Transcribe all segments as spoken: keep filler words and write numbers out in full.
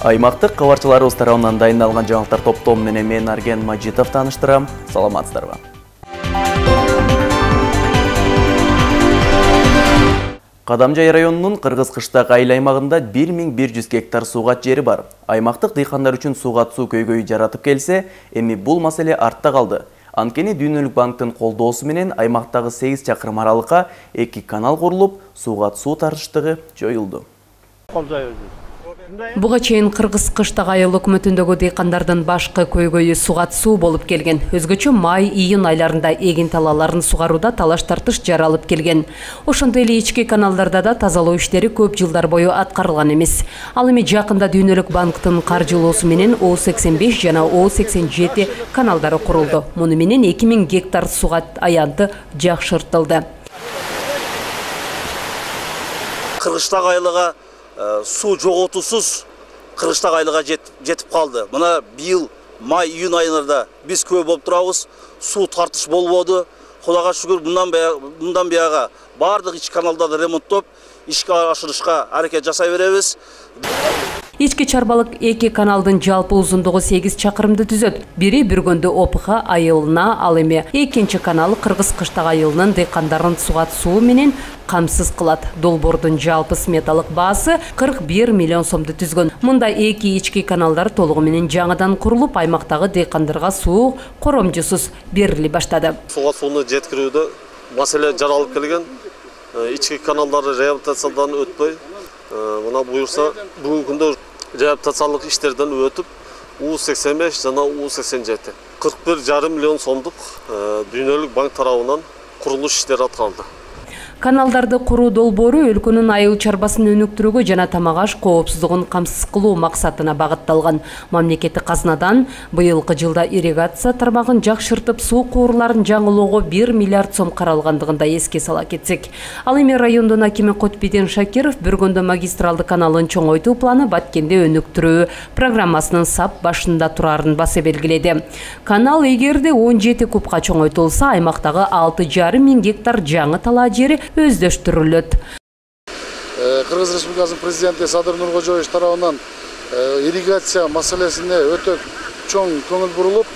Аймактык кабарчыларыбыз тарабынан дайындалган жаңылыктар топтому менен мен Арген Мажитов тааныштырам. Саламатсыздарбы. Кадамжай районунун Кыргыз-Кыштак айыл аймагында бир миң бир жүз гектар суугат жери бар. Аймактык дыйкандар үчүн суугат суу көйгөйү жаратып келсе, эми бул маселе артта калды. Анткени Дүйнөлүк банктын колдоосу менен аймактагы сегиз чакырым аралыкка эки канал курулуп, суугат суу тартыштыгы жоюлду. Буга чейин Кыргыз-Кыштак айыл өкмөтүндөгү дыйкандардын башкы көйгөйү суугат суу болуп келген. Өзгөчө май, июнь айларында эгин талааларын сугарууда талаш тартыш жаралып келген. Ошондой эле ички каналдарда да тазалоо иштери көп жылдар бою аткарылган эмес. Ал эми жакында Дүйнөлүк банктын каржылоосу менен О сексен беш жана О сексен жети каналдары курулду. Муну менен эки миң гектар суугат аянты жакшыртылды. Кыргызстак айылыга суу жоготуусуз Кыргызстак айылыга жетип калды. Мына быйыл май, июнь айында биз көп болуп турабыз. Суу тартыш болбоду. Кудайга шүгүр, мындан мындан бияга бардык ички каналдарды ремонттоп, ишке ашырышка аракет жасай беребиз. Ички чарбалык эки каналдын жалпы узундугу сегиз чакырымды түзөт. Бири Бүргөндү Опуха айылына, ал эми экинчи канал Кыргыз-Кыштак айылынын дыйкандарын суугат суу менен камсыз кылат. Долбоордун жалпы сметалык баасы кырк бир миллион сомду түзгөн. Мында эки ички каналдар толугу менен жаңыдан курулуп, аймактагы дыйкандарга суу коромжусуз берили баштады. Суугат сууну жеткирүүдө маселе жаралып келген. Ички каналдары реабилитациядан өтпөй, мына буюрса бүгүнкү күндө реабилитациялык иштерден өтүп, У сексен беш жана У сексен жети кырк бир жарым миллион сомдук Дүйнөлүк банк тарабынан курулуш иштери аткарылды. Каналдарды куруу долбоору өлкөнүн айыл чарбасын өнүктүрүүгө жана тамак-аш коопсуздугун камсыз кылуу максатына багытталган. Мамлекеттик казнадан быйылкы жылда ирригация тармагын жакшыртып, суу куурларын жаңылоого бир миллиард сом каралгандыгын да эске сала кетсек. Ал эми райондун акими Котбеден Шакиров Бүргөндө магистралды каналын чоңойтуу планы Баткенде өнүктүрүү программасынын сап башында турарын баса белгиледи. Канал эгерде он жети кубка чоңойтулса, аймактагы алты жарым миң гектар жаңы талаа жери өздөштүрүлөт. Кыргыз Республикасынын президенти Садыр Нуркожоевич тарабынан ирригация маселесине өтө чоң көңүл бурулуп,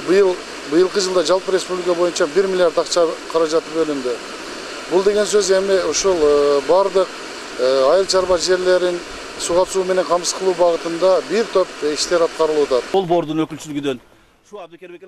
быйыл быйылкы жылда жалпы республика боюнча бир миллиард акча каражаты бөлүндү. Бул деген сөз эми ушул бардык айыл чарба жерлерин суугат суу менен камсыз кылуу багытында бир топ иштер аткарылууда. Долбоордун өкүлчүлүгүнөн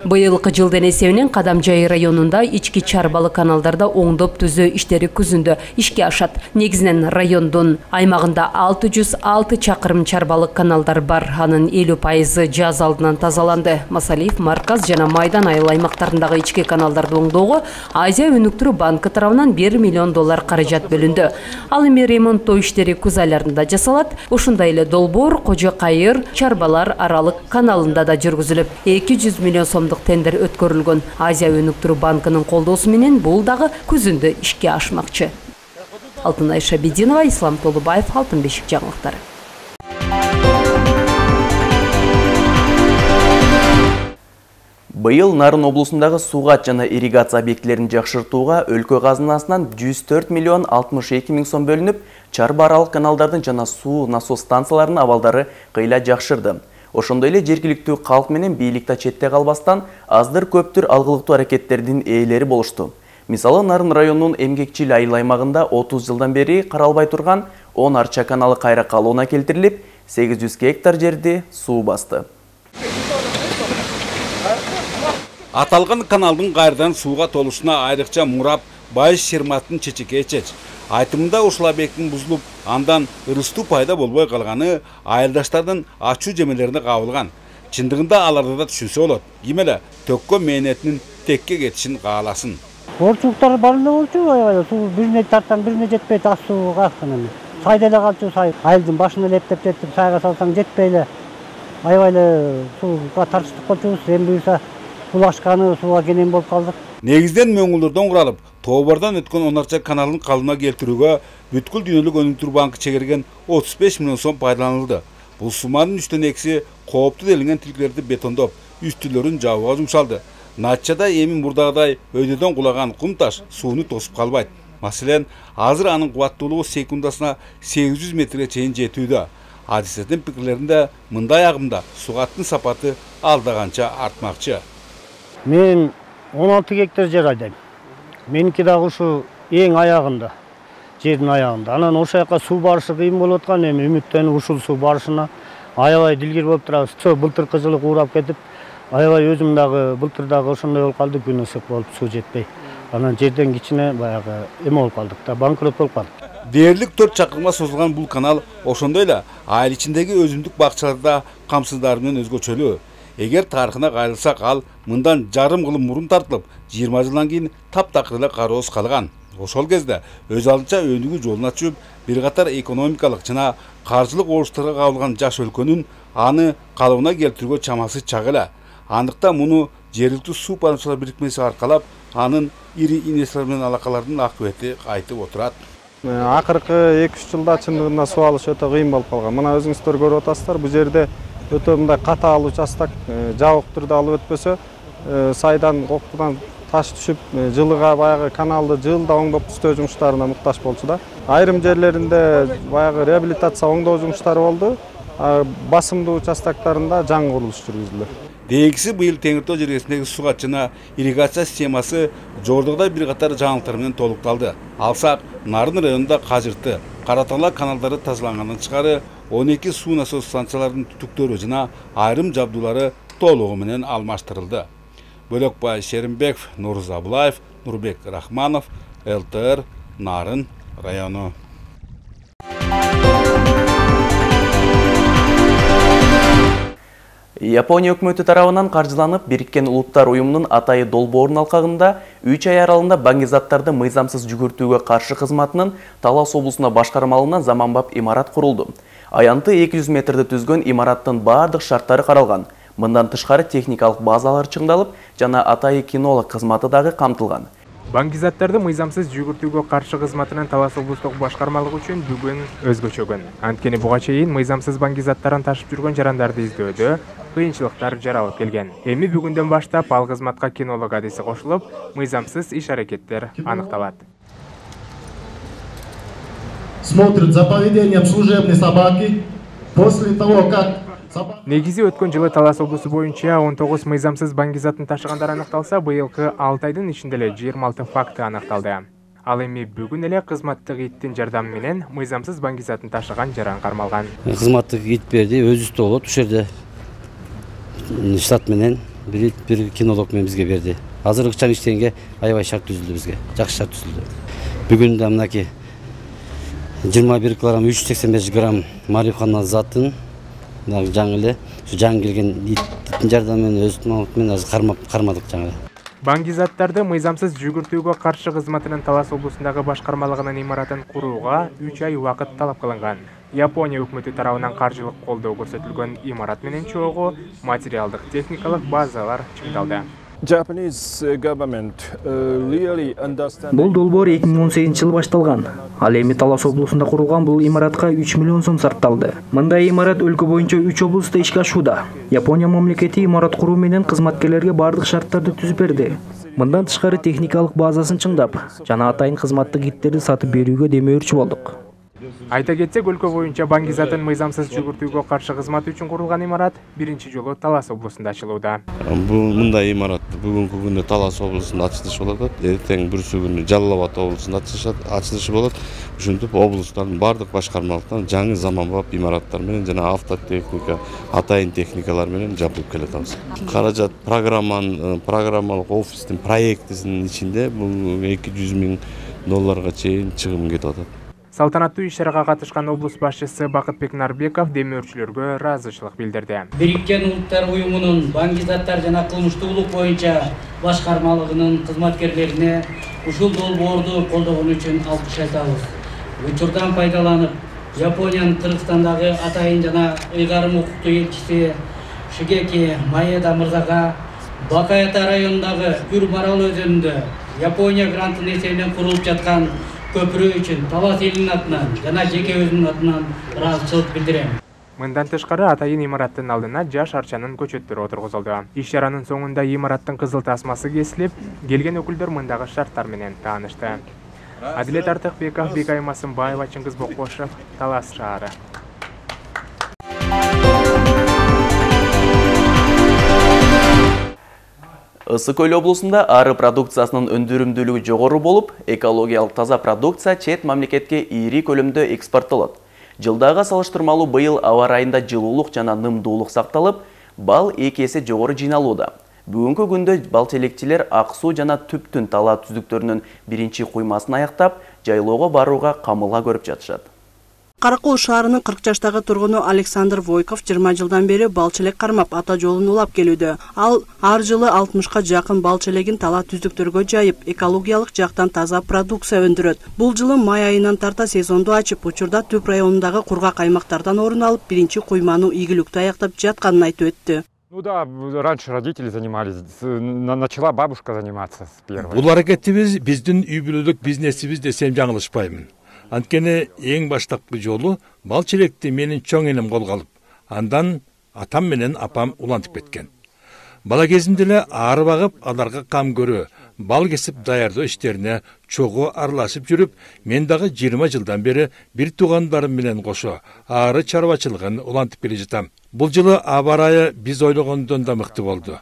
Быйылкы жылдын эсебинен Кадамжай районунда ички чарбалы каналдарда оңдоп түзөө иштери күзүндө ишке ашат. Негизинен райондун аймагында алты жүз алты чакырым чарбалык каналдар бар. Анын элүү пайызы жаз алдынан тазаланды. Масалиев, Марказ жана Майдан айыл аймактарындагы ички каналдарды оңдоого Азия өнүктүрүү банкы тарабынан бир миллион доллар каражат бөлүндү. Ал эми ремонттоо иштери күз айларында жасалат. Ушундай эле долбоор Кожо Кайыр чарбалар аралык каналында да жүргүзүлүп, эки жүз миллион сомдук тендер өткөрүлгөн. Азия өнүктүрүү банкынын колдоосу менен бул дагы күзүндө ишке ашмакчы. Алтынай Шабидинова, Ислам Толубаев, Алтын бешик жаңылыктары. Быйыл Нарын облусундагы суугат жана ирригация объектилерин жакшыртууга өлкө казынасынан жүз төрт миллион алтымыш эки миң сом бөлүнүп, чарба аралык каналдардын жана суу насос станцияларынын абалдары кыйла жакшырды. Ошондой эле жергиликтүү калк менен бийликте четте калбастан аздыр көптүр алгылыктуу аракеттердин ээлери болушту. Мисалы, Нарын районунун Эмгекчил айыл аймагында отуз жылдан бери каралбай турган он арча каналы кайра калууна келтирилип, сегиз жүз гектар жерди суу басты. Аталган каналдын кайрадан сууга толушуна айрыкча мурап Байыш Шерматтын чечеке чеч. Айтымында ушул объекттин бузулуп, андан ырыстуу пайда болбой калганы айылдаштардын ачуу жемелерине кабылган. Чындыгында аларды да түшүнсө болот. Ким эле төккө мээнетинин текке кетишин кааласын. Орчулуктар бар эле болчу, аябай суу бирине тарттан бирине жетпейт, ас сууга акчаны. Сайда эле калчу, сай айылдын башына лептеп жетип, сайга салсаң жетпей эле. Аябай эле сууга тартыштык болчубуз, эми буюрса сулашканы сууга кенен болуп калдык. Негизден мөңгүлөрдөн куралып, Тобордон өткөн он арча каналын калыбына келтирүүгө бүткүл Дүйнөлүк өнүктүрүү банкы чегерген отуз беш миллион сом пайдаланылды. Бул суманын үчтөн экиси кооптуу делинген тилкелерди бетондоп, үстүлөрүн жабууга жумшалды. Натыйжада эми мурдагыдай өйдөдөн кулаган кум таш сууну тосуп калбайт. Маселен, азыр анын кубаттуулугу секундасына сегиз жүз метрге чейин жетүүдө. адистердин пикирлеринде мындай агымда сугаттын сапаты алдаганча артмакчы. Мен он алты гектар жер айдайм. Меники дагы ушу эң аягында, жердин аягында. Анан ошол жака суу барышы кыйын болуп аткан, эми үмүттөнүп ушул суу барышына аябай дилгир болуп турабыз. Чо былтыркы жылы куурап кетип, аябай өзүм дагы былтыр дагы ошондой болуп калды, күн ысык болуп суу жетпей. Анан жерден кичине баягы эме болуп калдык да, банкрот болуп калдык. Дээрлик төрт чакырымга созулган бул канал ошондой эле айыл ичиндеги өзүмдүк бакчаларда камсыздары менен өзгөчөлүү. Эгер тарыхына кайрылсак, ал мындан жарым кылым мурун тартылып, жыйырма жылдан кийин таптакыр эле кароосуз калган. Ошол кезде өз алдынча өнүгүү жолуна чыгып, бир катар экономикалык жана каржылык ооштарга кабылган жаш өлкөнүн аны калыбына келтирүүгө чамасы чак эле. Андыктан муну жергиликтүү суу пайдалануучулар бирикмеси аркалап, анын ири инвесторлор менен алакалардын акыбети айтып отурат. Акыркы эки үч жылда чындыгында суу алыш өтө кыйын болуп калган. Мына өзүңүздөр көрүп атасыздар, бул жерде өтө мындай катаал участок жабык түрдө алып өтпөсө, сайдан кокпудан таш түшүп, жылыга баягы каналды жылда оңдоп түзөө жумуштарына муктаж болчу да. Айрым жерлеринде баягы реабилитация оңдоо жумуштары болду. Басымдуу участоктарында жаңы курулуш жүргүзүлдү. Дегиси быйыл Теңиртау жергесиндеги сугат жана ирригация системасы жордогда бир катар жаңылыктар менен толукталды. Алсак, Нарын районунда Кажырты, Каратала каналдары тазалангандан тышкары он эки суу насос станцияларынын түтүктөрү жана айрым жабдуулары толугу менен алмаштырылды. Бөлөкбай Шеримбеков, Нурз Абылаев, Нурбек Рахманов, эл тэ эр, Нарын району. Япония өкмөтү тарабынан каржыланып, Бириккен Улуттар уюмунун Атайы долбоорунун алкагында үч ай аралыгында баңгизаттарды мыйзамсыз жүгүртүүгө каршы кызматынын Талас облусуна башкармалыгынан заманбап имарат курулду. Аянты эки жүз метрди түзгөн имараттын бардык шарттары каралган. Мындан тышкары техникалык базалар чыңдалып, жана Атайы кинолог кызматы дагы камтылган. Баңгизаттарды мыйзамсыз жүгүртүүгө каршы кызматынын Талас облустук башкармалыгы үчүн бүгүн өзгөчө күн. Анткени буга чейин мыйзамсыз баңгизаттарын ташып жүргөн жарандарды издөөдө кыйынчылыктар жаралып келген. Эми бүгүндөн баштап ал кызматка кинолог адиси кошулуп, мыйзамсыз иш-аракеттер аныкталат. Смотрит за поведением служебной собаки после того, как Негизи өткөн жылы Талас облусу боюнча он тогуз мыйзамсыз баңгизатын ташыгандар аныкталса, быйылкы алты айдын ичинде эле жыйырма алты факты аныкталды. Ал эми бүгүн эле кызматтык иттин жардамы менен мыйзамсыз баңгизатын ташыган жаран кармалган. Кызматтык ит берди, өзүбүздө болот, ушул жерде штат менен бир бир кинолог менен бизге берди. Азыркы чаң иштегенге аябай шарт түзүлдү бизге, жакшы шарт түзүлдү. Бүгүн да мынакей жыйырма бир килограмм үч жүз сексен беш грамм марихуана затын жаңы эле ушу жаңы келген иттин жардамы менен өзүнүн менен азыр кармап кармадык жаңы. Баңгизаттарды мыйзамсыз жүгүртүүгө каршы кызматынын Талас облусундагы башкармалыгынын имаратын курууга үч ай убакыт талап кылынган. Япония өкмөтү тарабынан каржылык колдоо көрсөтүлгөн имарат менен чогуу материалдык техникалык базалар чыңдалды. Бул долбоор эки миң он сегизинчи жылы башталган. Ал эми Талас облусунда курулган бул имаратка үч миллион сом сарпталды. Мындай имарат өлкө боюнча үч облуста ишке ашууда. Япония мамлекети имарат куруу менен кызматкерлерге бардык шарттарды түзүп берди. Мындан тышкары техникалык базасын чыңдап, жана атайын кызматтык иттерди сатып берүүгө демөөрчү болдук. Айта кетсек, өлкө боюнча баңгизатын мыйзамсыз жүгүртүүгө каршы кызмат үчүн курулган имарат биринчи жолу Талас облусунда ачылууда. Бул мындай имарат бүгүнкү күндө Талас облусунда ачылышы болот, эртең бүрсү күнү Жалал Абад облусунда ачылышы болот. Ушинтип облустун бардык башкармалыктан жаңы заманбап имараттар менен жана автотехника, атайын техникалар менен жабылып келатабыз. Каражат программанын программалык офистин проектисинин ичинде бул эки жүз миң долларга чейин чыгым кетип атат. Салтанаттуу иш-чарага катышкан облус башчысы Бакытбек Нарбеков демөөрчүлөргө ыраазычылык билдирди. Бириккен Улуттар уюмунун баңгизаттар жана кылмыштуулук боюнча башкармалыгынын кызматкерлерине ушул долбоорду колдогон үчүн алкыш айтабыз. Учурдан пайдаланып, Япониянын Кыргызстандагы атайын жана ыйгарым укуктуу элчиси Шигеки Маеда мырзага Бакаята районундагы Күр Марал өзөнүндө Япония грантынын эсебинен курулуп жаткан көпүрө үчүн Талас элинин атынан жана жеке өзүмдүн атынан ыраазычылык билдирем. Мындан тышкары атайын имараттын алдына жаш арчанын көчөттөрү отургузулду. Иш-чаранын соңунда имараттын кызыл тасмасы кесилип, келген өкүлдөр мындагы шарттар менен таанышты. Адилет Артыкбеков, Бекай Масымбаева, Чыңгыз Бокбошев, Талас шаары. Ысык Көл облусунда ары продукциясынын өндүрүмдүүлүгү жогору болуп, экологиялык таза продукция чет мамлекетке ири көлөмдө экспорттолот. Жылдага салыштырмалуу быйыл аба ырайында жылуулук жана нымдуулук сакталып, бал эки эсе жогору жыйналууда. Бүгүнкү күндө бал челекчилер ак суу жана түптүн талаа түздүктөрүнүн биринчи куймасын аяктап, жайлоого барууга камылга көрүп жатышат. Каракол шаарынын кырк жаштагы тургуну Александр Войков жыйырма жылдан бери бал челек кармап ата жолун улап келүүдө. Ал ар жылы алтымышка жакын бал челегин талаа түздүктөргө жайып, экологиялык жактан таза продукция өндүрөт. Бул жылы май айынан тарта сезонду ачып, учурда Түп районундагы кургак аймактардан орун алып, биринчи куйманы ийгиликтүү аяктап жатканын айтып өттү. Ну да, раньше родители занимались, начала бабушка заниматься с первой. Бул аракетибиз биздин үй бүлөлүк бизнесибиз десем жаңылышпаймын. Анткени эң баштапкы жолу бал челекти менин чоң энем колго алып, андан атам менен апам улантып кеткен. Бала кезимде эле ары багып, аларга кам көрүү, бал кесип даярдоо иштерине чогуу аралашып жүрүп, мен дагы жыйырма жылдан бери бир туугандарым менен кошо ары чарбачылыгын улантып келе жатам. Бул жылы аба ырайы биз ойлогондон да мыкты болду.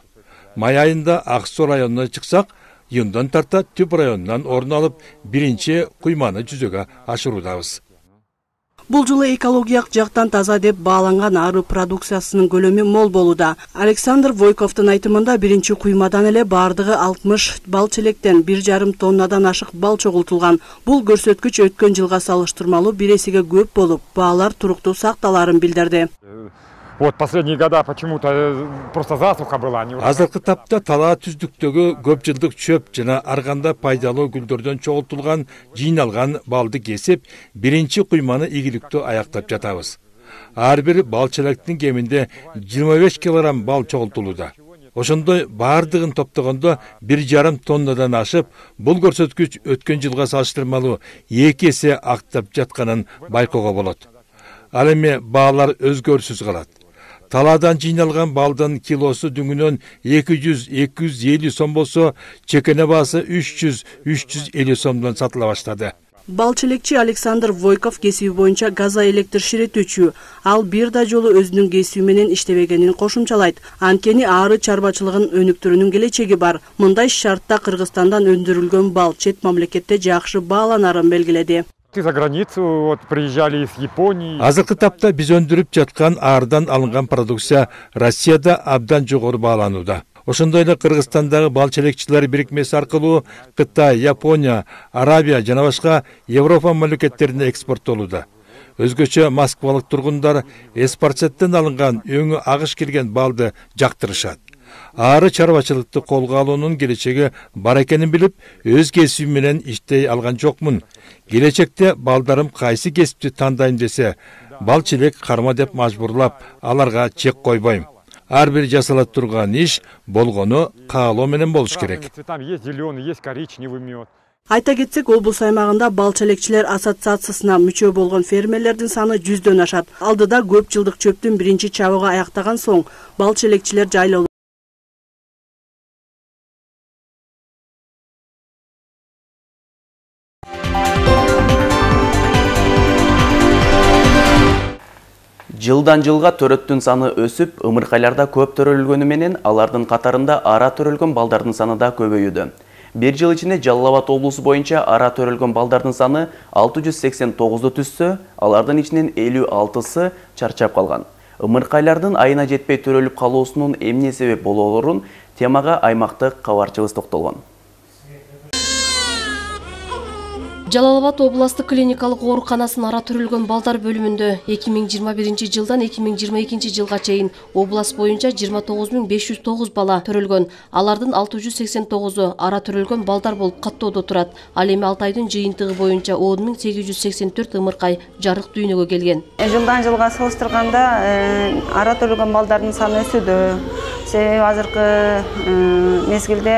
Май айында Ак Суу районуна чыксак, июндан тарта Түп районунан орун алып, биринчи куйманы жүзөгө ашыруудабыз. Бул жылы экологиялык жактан таза деп бааланган ары продукциясынын көлөмү мол болууда. Александр Войковдун айтымында биринчи куймадан эле бардыгы алтымыш бал челектен бир жарым тоннадан ашык бал чогултулган. Бул көрсөткүч өткөн жылга салыштырмалуу бир эсеге көп болуп, баалар туруктуу сакталарын билдирди. Вот последние года почему-то просто засуха была. Азыркы тапта талаа түздүктөгү көп жылдык чөп жана арганда пайдалуу гүлдөрдөн чогултулган жыйналган балды кесип, биринчи куйманы ийгиликтүү аяктап жатабыз. Ар бир бал челектин кеминде жыйырма беш килограмм бал чогултулууда. Ошондой бардыгын топтогондо бир жарым тоннадан ашып, бул көрсөткүч өткөн жылга салыштырмалуу эки эсе актап жатканын байкоого болот. Ал эми баалар өзгөрүсүз калат. Талаадан жыйналган балдын килосу дүңүнөн эки жүз — эки жүз элүү сом болсо, чекене баасы үч жүз — үч жүз элүү сомдон сатыла баштады. Бал челекчи Александр Войков кесиби боюнча газоэлектр ширетүүчү. Ал бир да жолу өзүнүн кесиби менен иштебегенин кошумчалайт. Анткени ары чарбачылыгын өнүктүрүүнүн келечеги бар. Мындай шартта Кыргызстандан өндүрүлгөн бал чет мамлекетте жакшы бааланарын белгиледи. За границу вот приезжали из Японии. Азыркы тапта биз өндүрүп жаткан арыдан алынган продукция Россияда абдан жогору бааланууда. Ошондой эле Кыргызстандагы бал челекчилер бирикмеси аркылуу Кытай, Япония, Арабия жана башка Европа мамлекеттерине экспорттолууда. Өзгөчө москвалык тургундар эспарцеттен алынган өңү агыш келген балды жактырышат. Ары чарбачылыкты колго алуунун келечеги бар экенин билип, өз кесибим менен иштей алган жокмун. Келечекте балдарым кайсы кесипти тандайм десе, бал челек карма деп мажбурлап, аларга чек койбойм. Ар бир жасала турган иш болгону каалоо менен болуш керек. Айта кетсек, облус аймагында бал челекчилер ассоциациясына мүчө болгон фермерлердин саны жүздөн ашат. Алдыда көп жылдык чөптүн биринчи чабыгы аяктаган соң, бал челекчилер жайлоо Жылдан жылга төрөттүн саны өсүп, ымыркайларда көп төрөлгөнү менен алардын катарында ара төрөлгөн балдардын саны да көбөйүүдө. Бир жыл ичинде Жалал Абад облусу боюнча ара төрөлгөн балдардын саны алты жүз сексен тогузду түзсө, алардын ичинен элүү алтысы чарчап калган. Ымыркайлардын айына жетпей төрөлүп калуусунун эмне себеп болоорун темага аймактык кабарчыбыз токтолгон. Жалал Абад областык клиникалык ооруканасынын ара төрөлгөн балдар бөлүмүндө эки миң жыйырма биринчи жылдан эки миң жыйырма экинчи жылга чейин област боюнча жыйырма тогуз миң беш жүз тогуз бала төрөлгөн. Алардын алты жүз сексен тогузу ара төрөлгөн балдар болуп каттоодо турат. Ал эми алты айдын жыйынтыгы боюнча он миң сегиз жүз сексен төрт ымыркай жарык дүйнөгө келген. Жылдан жылга салыштырганда ара төрөлгөн балдардын саны өсүүдө. Себеби азыркы мезгилде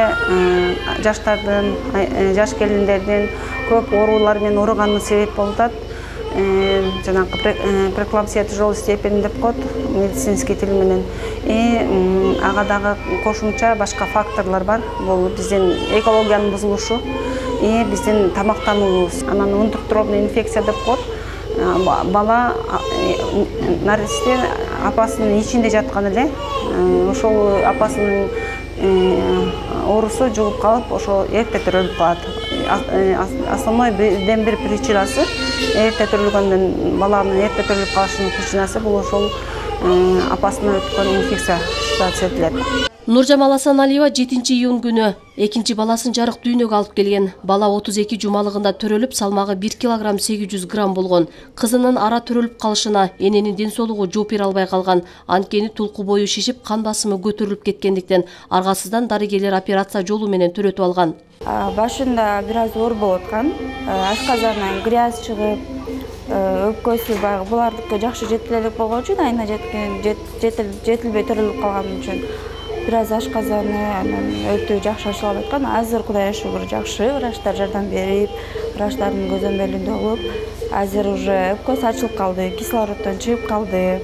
жаштардын, жаш келиндердин көп оорулар менен ооруганына себеп болуп атат. Жанагы преэклампсия тяжелой степени деп коет медицинский тил менен. И ага дагы кошумча башка факторлор бар. Бул биздин экологиянын бузулушу и биздин тамактануубуз. Анан унтуктуробный инфекция деп коет. Бала наристе апасынын ичинде жаткан эле ошол апасынын оорусу жугуп калып, ошо эрте төрөлүп калат. Основной бирден бир причинасы эрте төрөлгөндөн баланын эрте төрөлүп калышынын причинасы бул ошол апасына өткөн инфекция сезилет. Нуржамал Асаналиева жетинчи июнь күнү экинчи баласын жарык дүйнөгө алып келген. Бала отуз эки жумалыгында төрөлүп, салмагы бир килограмм сегиз жүз грамм болгон. Кызынын ара төрөлүп калышына эненин ден соолугу жооп бере албай калган. Анткени тулку бою шишип, кан басымы көтөрүлүп кеткендиктен аргасыздан дарыгерлер операция жолу менен төрөтүп алган. Башында бир аз оор болуп аткан. Ашказандан грязь чыгып, өпкөсү баягы булардыкы жакшы жетиле элек болгон үчүн, айына жеткен жетилбей төрөлүп калган үчүн бир аз ашказаны анан өтө жакшы ачылып аткан. Азыр Кудайга шүгүр жакшы, врачтар жардам берип, врачтардын көзөмөлүндө болуп, азыр уже өпкөсү ачылып калды, кислороддон чыгып калды.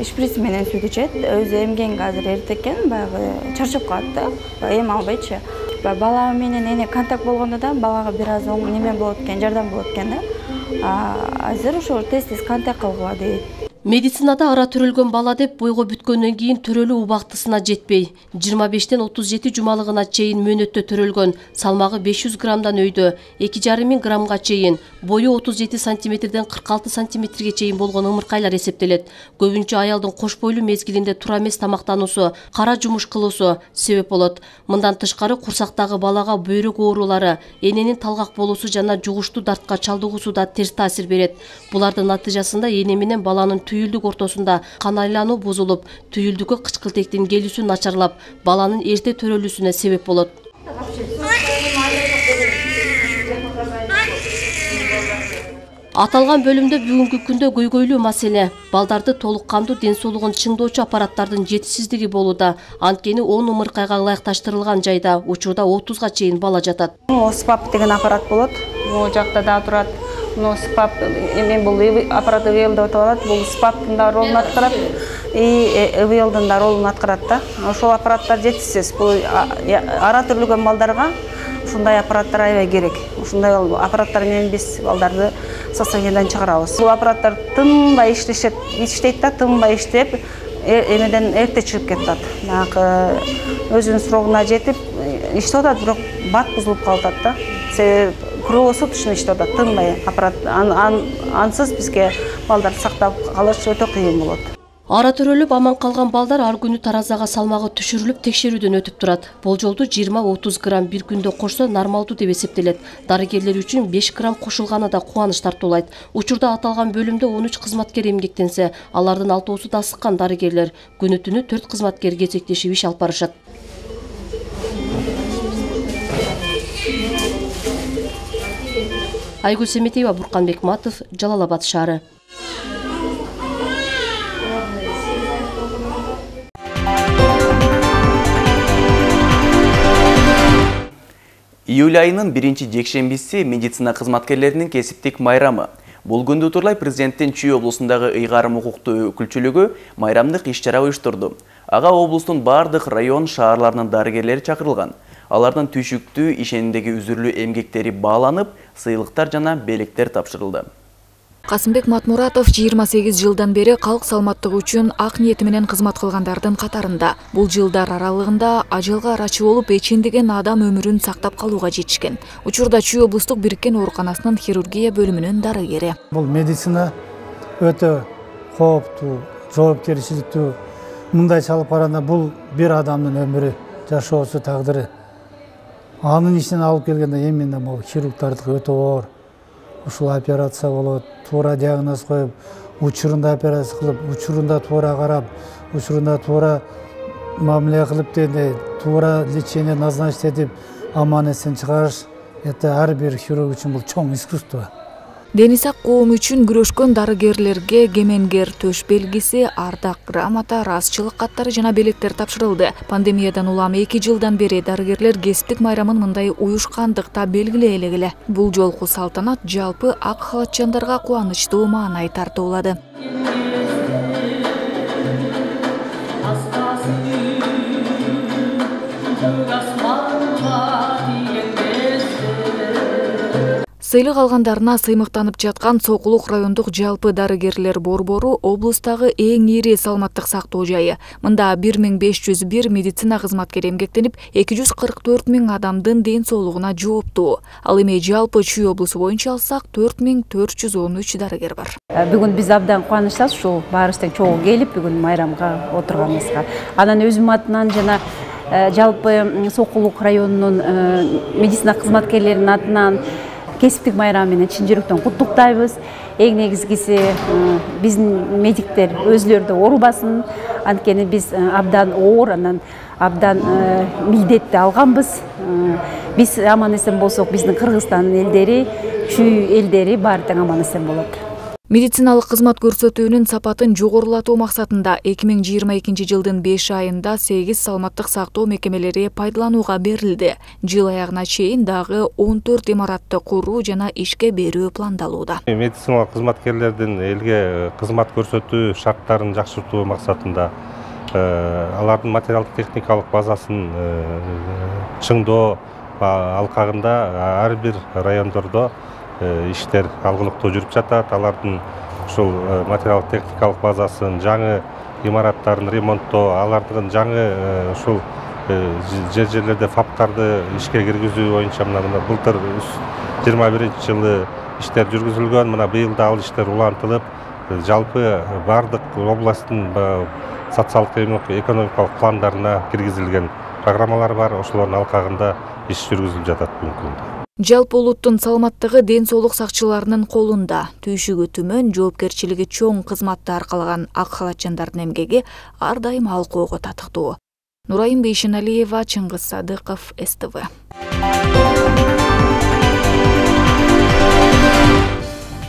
Шприц менен сүйүт ичет. Өзү эмгенге азыр эрте экен, баягы чарчап калат да, эм албайчы. Бала менен эне контакт болгондо да балага бир аз неме болот экен, жардам болот экен да. Азыр ошо тез-тез контакт кылгыла дейт. Медицинада ара төрөлгөн бала деп бойго бүткөндөн кийин төрөлүү убактысына жетпей, жыйырма бештен отуз жети жумалыгына чейин мөөнөттө төрөлгөн, салмагы беш жүз граммдан өйдө, эки жарым миң граммга чейин, бою отуз жети сантиметрден кырк алты сантиметрге чейин болгон ымыркайлар эсептелет. Көбүнчө аялдын кош бойлуу мезгилинде туура эмес тамактануусу, кара жумуш кылуусу себеп болот. Мындан тышкары курсактагы балага бөйрөк оорулары, эненин талгак болуусу жана жугуштуу дартка чалдыгуусу да терс таасир берет. Булардын натыйжасында эне менен баланын түйүлдүк ортосунда кан айлануу бузулуп, түйүлдүккө кычкылтектин келүүсү начарлап, баланын эрте төрөлүүсүнө себеп болот. Аталган бөлүмдө бүгүнкү күндө көйгөйлүү маселе балдарды толук кандуу ден соолугун чыңдоочу аппараттардын жетишсиздиги болууда. Анткени он ымыркайга ылайыкташтырылган жайда учурда отузга чейин бала жатат. СПАП деген аппарат болот. Могу жакта да турат. Но СПАП эми бул аппарат ИВЛ деп аталат. Бул СПАПтын да ролун аткарат, и ИВЛдын да ролун аткарат да. Ошол аппараттар жетишсиз. Бул ара төрөлгөн балдарга ушундай аппараттар аябай керек. Ушундай аппараттар менен биз балдарды состояниядан чыгарабыз. Бул аппараттар тынбай иштешет, иштейт да, тынбай иштеп, эмеден эрте чыгып кетет. Баягы өзүнүн срогуна жетип иштеп атат, бирок бат бузулуп калып атат да. Себеби круглосуточно иштеп атат, тынбай аппарат. Ансыз бизге балдарды сактап калыш өтө кыйын болот. Ара төрөлүп аман калган балдар ар күнү таразага салмагы түшүрүлүп текшерүүдөн өтүп турат. Болжолду жыйырма отуз грамм бир күндө кошсо нормалдуу деп эсептелет. Дарыгерлер үчүн беш грамм кошулганы да кубаныч тартуулайт. Учурда аталган бөлүмдө он үч кызматкер эмгектенсе, алардын алтоосу да асыккан дарыгерлер. Күнү түнү төрт кызматкер кезектешип иш алып барышат. Айгүл Семетеева, Буркан Бекматов, Жалал Абад шаары. Июль айынын биринчи жекшембиси медицина кызматкерлеринин кесиптик майрамы. Бул күндү утурлай президенттин Чүй облусундагы ыйгарым укуктуу өкүлчүлүгү майрамдык иш-чара уюштурду. Ага облустун бардык район шаарларынын дарыгерлери чакырылган. Алардын түйшүктүү ишенимдеги үзүрлүү эмгектери бааланып, сыйлыктар жана белектер тапшырылды. Касымбек Матмуратов жыйырма сегиз жылдан бери калк саламаттыгы үчүн ак ниети менен кызмат кылгандардын катарында. Бул жылдар аралыгында ажалга арачы болуп эчендеген адам өмүрүн сактап калууга жетишкен. Учурда Чүй облустук бириккен ооруканасынын хирургия бөлүмүнүн дарыгери. Бул медицина өтө кооптуу, жоопкерчиликтүү. Мындай чалып караганда бул бир адамдын өмүрү, жашоосу, тагдыры. Анын ичинен алып келгенде эмне бул хирургдардыкы өтө оор. Ушул операция болот, туура диагноз коюп, учурунда операция кылып, учурунда туура карап, учурунда туура мамиле кылып деди, туура лечение назначить этип, аман эсен чыгарыш. Это ар бир хирург үчүн бул чоң искусство. Дени сак коом үчүн күрөшкөн дарыгерлерге кемеңгер төш белгиси, ардак грамота, ыраазычылык каттары жана белектер тапшырылды. Пандемиядан улам эки жылдан бери дарыгерлер кесиптик майрамын мындай уюшкандыкта белгилей элек. Бул жолку салтанат жалпы ак халатчандарга кубанычтуу маанай тартуулады. Сыйлык алгандарына сыймыктанып жаткан Сокулук райондук жалпы дарыгерлер борбору облустагы эң ири саламаттык сактоо жайы. Мында бир миң беш жүз бир медицина кызматкери эмгектенип, эки жүз кырк төрт миң адамдын ден соолугуна жооптуу. Ал эми жалпы Чүй облусу боюнча алсак төрт миң төрт жүз он үч дарыгер бар. Бүгүн биз абдан кубанычтабыз ушул баарыбыздын чогуу келип бүгүн майрамга отурганыбызга. Анан өзүм атынан жана жалпы Сокулук районунун медицина кызматкерлеринин атынан кесиптик майрам менен чын жүрөктөн куттуктайбыз. Эң негизгиси биздин медиктер өзүлөрү да оорубасын. Анткени биз абдан оор, анан абдан милдетти алганбыз. Биз аман эсен болсок, биздин Кыргызстандын элдери, Чүй элдери баары тең аман эсен болот. Медициналык кызмат көрсөтүүнүн сапатын жогорулатуу максатында эки миң жыйырма экинчи жылдын беш айында сегиз саламаттык сактоо мекемелери пайдаланууга берилди. Жыл аягына чейин дагы он төрт имаратты куруу жана ишке берүү пландалууда. Медициналык кызматкерлердин элге кызмат көрсөтүү шарттарын жакшыртуу максатында алардын материалдык техникалык базасын чыңдоо алкагында ар бир райондордо иштер алгылыктуу жүрүп жатат. Алардын ушул материалдык техникалык базасын, жаңы имараттарын ремонттоо, алардын жаңы ушул жер жерлерде фаптарды ишке киргизүү боюнча мына былтыр жыйырма биринчи жылы иштер жүргүзүлгөн. Мына быйыл да ал иштер улантылып, жалпы бардык областтын социалдык экономикалык пландарына киргизилген программалар бар. Ошолордун алкагында иш жүргүзүлүп жатат бүгүнкү күндө. Жалпы улуттун саламаттыгы ден соолук сакчыларынын колунда. Түйшүгү түмөн, жоопкерчилиги чоң кызматты аркалаган ак халатчандардын эмгеги ар дайым алкоого татыктуу. Нурайым Бейшеналиева, Чыңгыз Садыков, эс тэ вэ.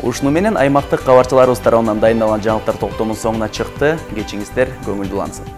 Ушуну менен аймактык кабарчыларыбыз тарабынан дайындалган жаңылыктар топтомунун соңуна чыкты. Кечиңиздер көңүлдүү улансын.